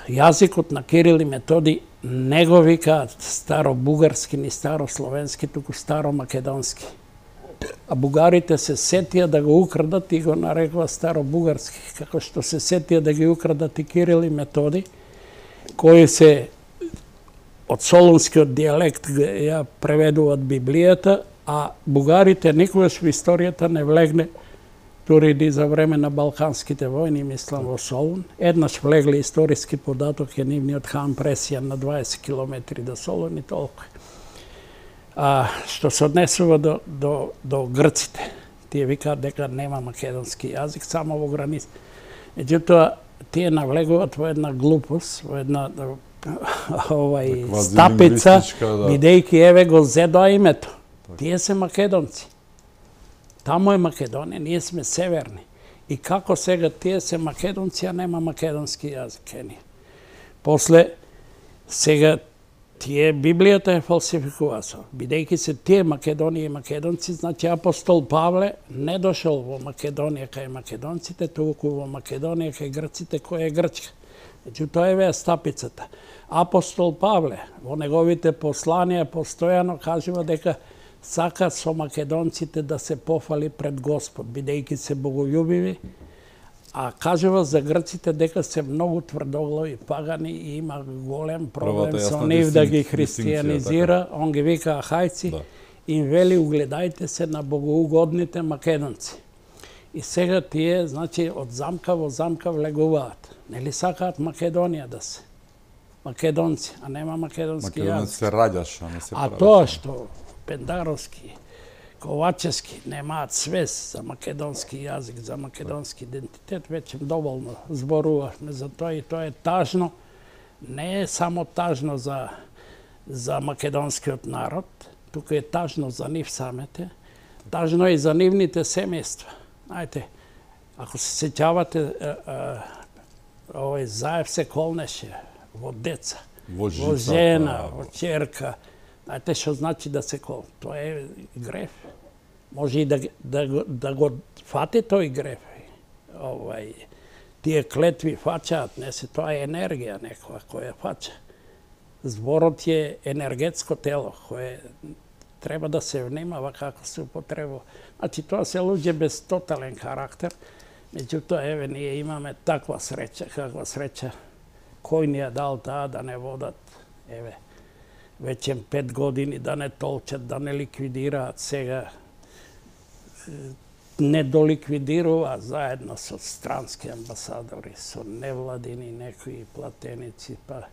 јазикот на Кирил и Методий не го викаат старо-бугарски ни старословенски, туку старо-македонски. А бугарите се сетија да го украдат и го нарекува старо-бугарски, како што се сетија да ги украдат и Кирил и Методий, кои се од солунскиот дијалект ја преведуваат Библијата, а бугарите никогаш во историјата не влегне, дури и за време на Балканските војни, мислам во Солун. Еднаш влегле историски податок е нивниот хан Пресијан на 20 километри до Солун и толку. Што се однесува до грците, тие викаат дека нема македонски јазик, само во граница. Меѓутоа, тие навлегуваат во една глупост, во една стапица, бидејќи еве го зедоа името. Тие се македонци. Тамо е Македонија, ние сме северни. И како сега тие се македонци, а нема македонски јазик. После, сега тие Библијата е фалсификувана. Бидејќи се тие Македонија и македонци, значи апостол Павле не дошол во Македонија кај македонците, туку во Македонија кај грците, која е Грчка. Меѓутоа еве стапицата. Апостол Павле во неговите посланија постојано кажува дека сака со македонците да се пофали пред Господ, бидејќи се боголюбиви, а кажува за грците дека се многу тврдоглави пагани и има голем проблем со нив да ги христијанизира. Он ги вика ахајци, им вели угледајте се на богоугодните македонци. И сега тие, значи, од замка во замка влегуваат. Нели сакаат Македонија да се? Македонци, а нема македонски јазик. Македонци се раѓаш, а не се правиш. А тоа што Пендаровски, Ковачевски немаат свест за македонски јазик, за македонски идентитет, веќе доволно зборувавме за тоа и тоа е тажно. Не е само тажно за македонскиот народ, туку е тажно за нив самите, тажно е и за нивните семејства. Знаете, ако се сеќавате, овој Заев се колнеше во деца, во жена, во ќерка. Знаете што значи да се кол? Тоа е греф. Може и да го фати тој греф. Тие клетви фачаат, не се, тоа е енергија некоја која фача. Зборот е енергетско тело, кое треба да се внимава како се употребува. Значи, тоа се луѓе без тотален карактер, меѓутоа, еве, ние имаме таква среќа, каква среќа, кој ни ја дал таа да не водат, еве, веќе 5 години да не толчат, да не ликвидираат, сега не доликвидирува заедно со странски амбасадори, со невладини некои платеници, па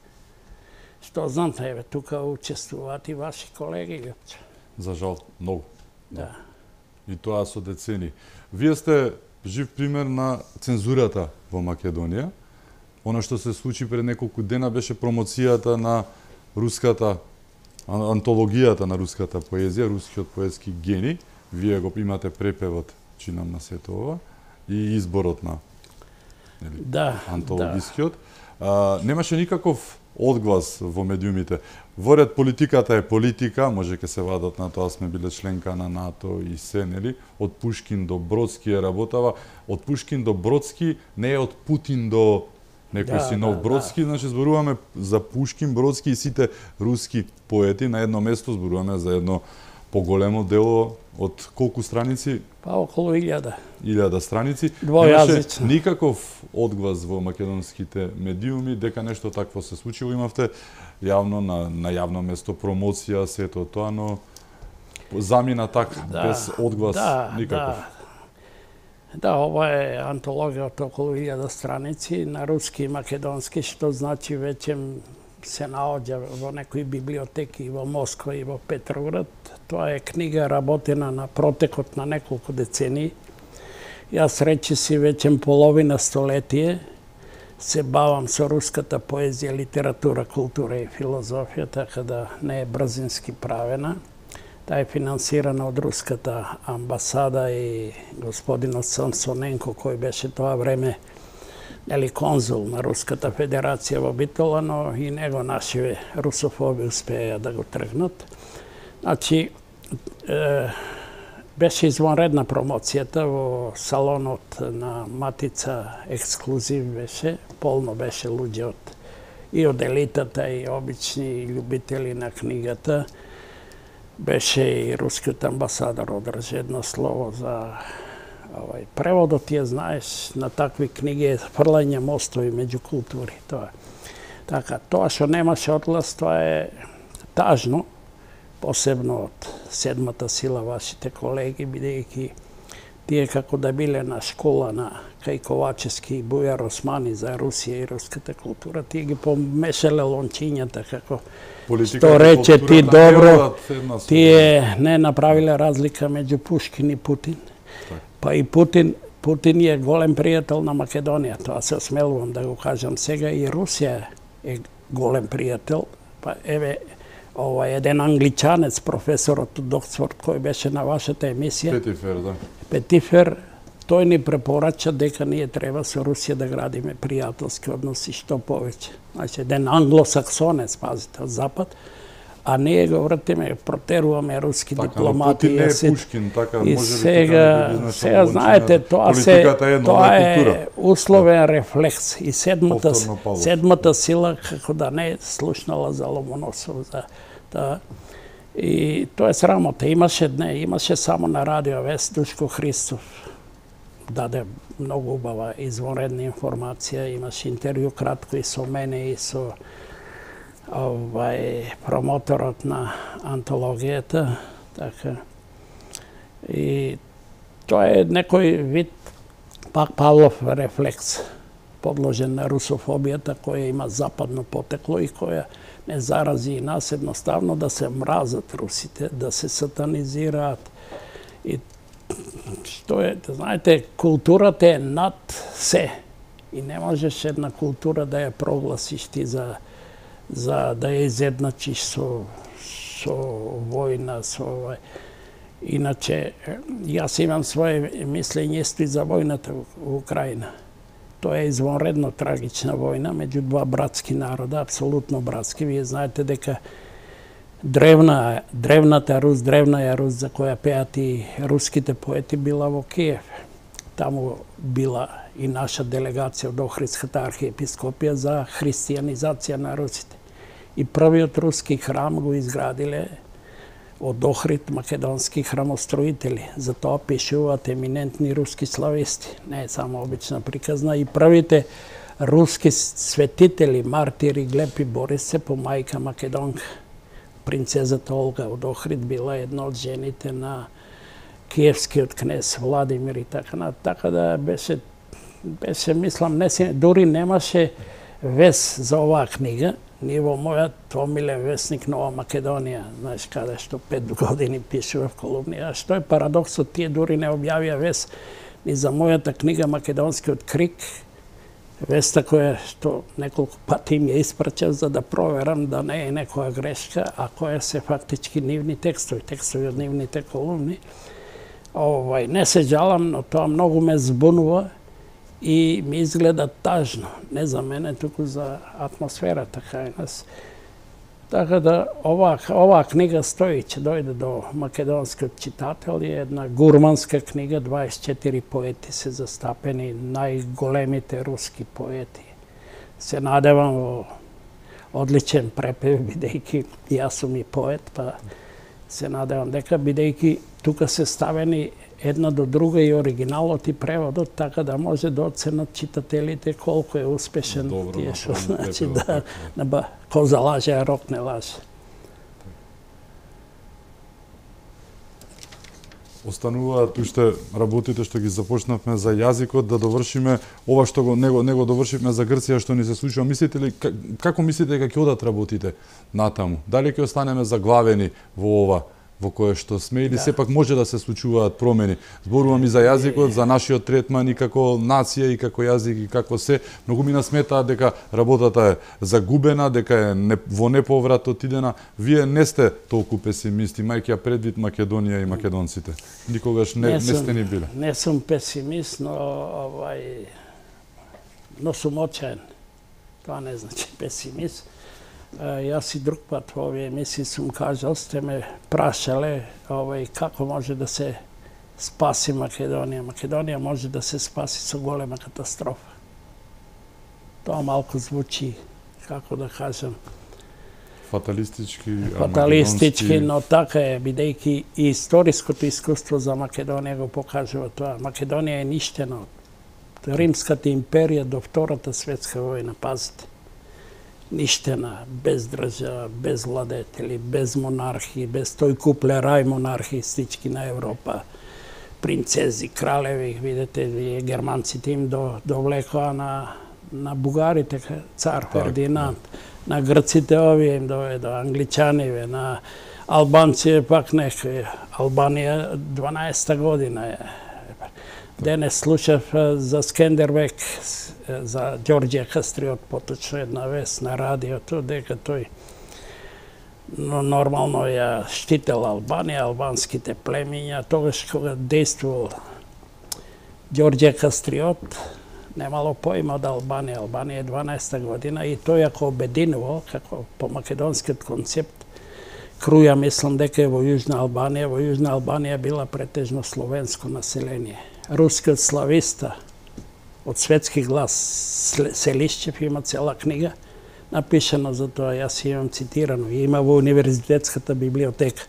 што знам, еве, тука учествуваат и ваши колеги, Лјупче. За жал, многу. Да. И тоа со децени. Вие сте жив пример на цензурата во Македонија. Она што се случи пред неколку дена беше промоцијата на руската антологијата на руската поезија, рускиот поетски гени. Вие го имате препевот, чинам на сето ова, и изборот на антологискиот. Немаше никаков одглас во медиумите. Во ред политиката е политика, може ке се вадат на тоа, сме биле членка на НАТО и се, нели? Од Пушкин до Бродски е работава. Од Пушкин до Бродски не е од Путин до некој си нов Бродски, значи зборуваме за Пушкин, Бродски и сите руски поети на едно место, зборуваме за едно поголемо дело од колку страници? Па околу 1000. 1000 страници. Двојазично. Немаше никаков одглас во македонските медиуми дека нешто такво се случило. Имавте јавно на јавно место промоција, сето тоа, но замина така, без одглас никаков. Да, ова е антологија од околу 1000 страници на руски и македонски, што значи веќе се наоѓа во некои библиотеки во Москва и во Петроград. Тоа е книга работена на протекот на неколку децении. Јас речиси веќе половина столетие се бавам со руската поезија, литература, култура и филозофија, така да не е брзински правена. Таа е финансирана од руската амбасада и господинот Самсоненко, кој беше тоа време конзул на Руската федерација во Битола, но и него нашиве русофоби успеа да го тргнат. Значи, беше извонредна промоцијата во салонот на Матица, ексклузив беше, полно беше луѓе и од елитата, и обични љубители на книгата. Беше и рускиот амбасадор одржи едно слово за преводот, ја знаеш, на такви книги е фрлање мостови меѓу култури. Така, тоа што немаше одглас, тоа е тажно, посебно од седмата сила вашите колеги, бидејќи тие како да биле на школа на кај Ковачевски и Бујар Османи за Русија и руската култура, тие ги помешале лончињата, како што рече ти добро, тие не направиле разлика меѓу Пушкин и Путин. Па и Путин е голем пријател на Македонија, тоа се осмелувам да го кажам сега, и Русија е голем пријател. Па еве, еден англичанец, професорот од Оксфорд, кој беше на вашата емисија, Петифер, да. Петифер, тој ни препорача дека ние треба со Русија да градиме пријателски односи што повеќе. Значи, еден англосаксонец, пазите, од Запад, а ние го вртиме, протеруваме руски дипломати. Путин не е Пушкин, така, и може сега знаете, тоа е условен рефлекс. И седмата сила, како да не е слушнала за Ломоносов, и тоа е срамота. Имаше само на радио вест Душко Христов. Даде многу убава извонредна информација, имаше интервју кратко и со мене и со промоторот на антологијата, така. И тоа е некој вид пак Павлов рефлекс, подложен на русофобијата, која има западно потекло и која не зарази и нас, едноставно да се мразат русите, да се сатанизираат. И што е, знаете, културата е над се. И не можеш една култура да ја прогласиш ти за да ја изедначиш со војна, Иначе, јас имам своje мислење исто и за војната во Украина. Тоа е извонредно трагична војна меѓу два братски народа, апсолутно братски. Вие знаете дека древната Рус, древна Рус, за која пеат и руските поети, била во Киев. Таму била и наша делегација од Охридската архиепископија за христијанизација на русите. И првиот руски храм го изградиле од Охрид македонски храмостроители. За тоа пишуваат еминентни руски слависти. Не е само обична приказна. И првите руски светители, мартири Глеб и Борис се по мајка македонка. Принцезата Олга од Охрид била една од жените на киевскиот кнез Владимир и така. Така да беше, мислам, дури немаше вес за оваа книга. Ние во мојот омилен весник Нова Македонија, знаеш, каде што 5 години пишува в колумни. А што е парадоксот, тие дури не објавија вес ни за мојата книга Македонскиот крик, веста која што неколку пати им ја испрачав за да проверам да не е некоја грешка, а која се фактички нивни текстови од нивните колумни. Не се жалам, но тоа многу ме збунува и ми изгледа тажно. Не за мене, туку за атмосферата кај нас. Така да оваа книга стои, ќе дојде до македонскиот читател, е една гурманска книга, 24 поети се застапени, најголемите руски поети. Се надевам во одличен препев, бидејќи јас сум и поет, па се надевам дека бидејќи тука се ставени една до друга и оригиналот и преводот, така да може да оценат читателите колку е успешен тие што значи да коза лаже, а рок не лаже. Остануваат уште работите што ги започнавме за јазикот, да довршиме ова што не го довршивме за Грција што ни се случува. Мислите ли, како мислите дека ќе одат работите натаму? Дали ќе останеме заглавени во ова во кое што сме, или сепак може да се случуваат промени? Зборувам и за јазикот, за нашиот третман и како нација и како јазик и како се. Многу ми насметаат дека работата е загубена, дека е во неповрат отидена. Вие не сте толку песимисти, мајќи ја предвид Македонија и македонците. Никогаш не сте ни биле. Не сум песимист, но сум очаен. Тоа не значи песимист. Јас и друг пат во овие емисии сум кажал, сте ме прашале како може да се спаси Македонија. Македонија може да се спаси со голема катастрофа. Тоа малку звучи, како да кажам, фаталистички, но така е, бидејќи и историското искуство за Македонија го покажува тоа. Македонија е ништена од Римската империја до Втората светска војна, пазите. Ништена, без држава, без владетели, без монархии, без тој куплерај монархистички на Европа. Принцези, кралеви, видите, вие германците им довлекоа на бугарите, цар Фердинанд. На грците овие им доведоа, англичаниве, на албанците пак некои. Албанија 12-та година е. Денес слушав за Скендербек, за Ѓорѓе Кастриот, поточно една вест на радиото, дека тој нормално ја штител Албанија, албанските племиња. Тогаш кога действувал Ѓорѓе Кастриот, немало поима од Албанија. Албанија е 12-та година и тој ако обединувал, како по македонскиот концепт, Круја мислам дека е во Јужна Албанија. Во Јужна Албанија била претежно словенско население. Рускиот слависта од Светски глас Селишчев има цела книга напишана за тоа, јас имам цитирано, и има во универзитетската библиотека.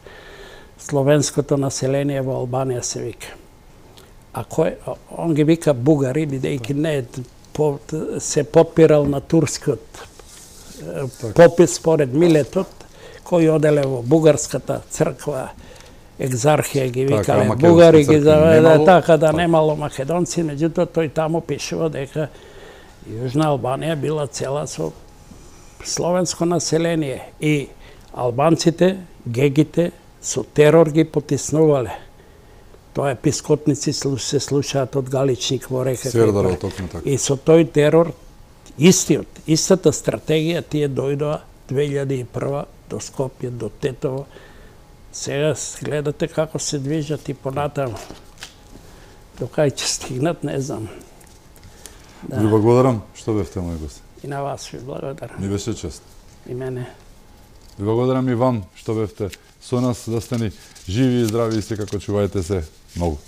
Словенското население во Албанија се вика. А кој он ги вика бугари, бидејќи не се подпирал на турскиот попис според Милетот, кој оделе во бугарската црква, екзархија ги викале бугари, ги заведе така да немало македонци, меѓутоа тој таму пишува дека Јужна Албанија била цела со словенско население и албанците, гегите, со терор ги потиснувале. Тоа епископници се слушаат од Галичник во река. И со тој терор, истата стратегија, тие дојдоа 2001 до Скопје, до Тетово. Сега гледате како се движат и понатаму. До кај ќе стигнат, не знам. Ви благодарам што бевте мој гост. И на вас ви благодарам. Ми беше чест. И мене. Ви благодарам и вам што бевте со нас, да сте ни живи и здрави и секако чувајте се многу.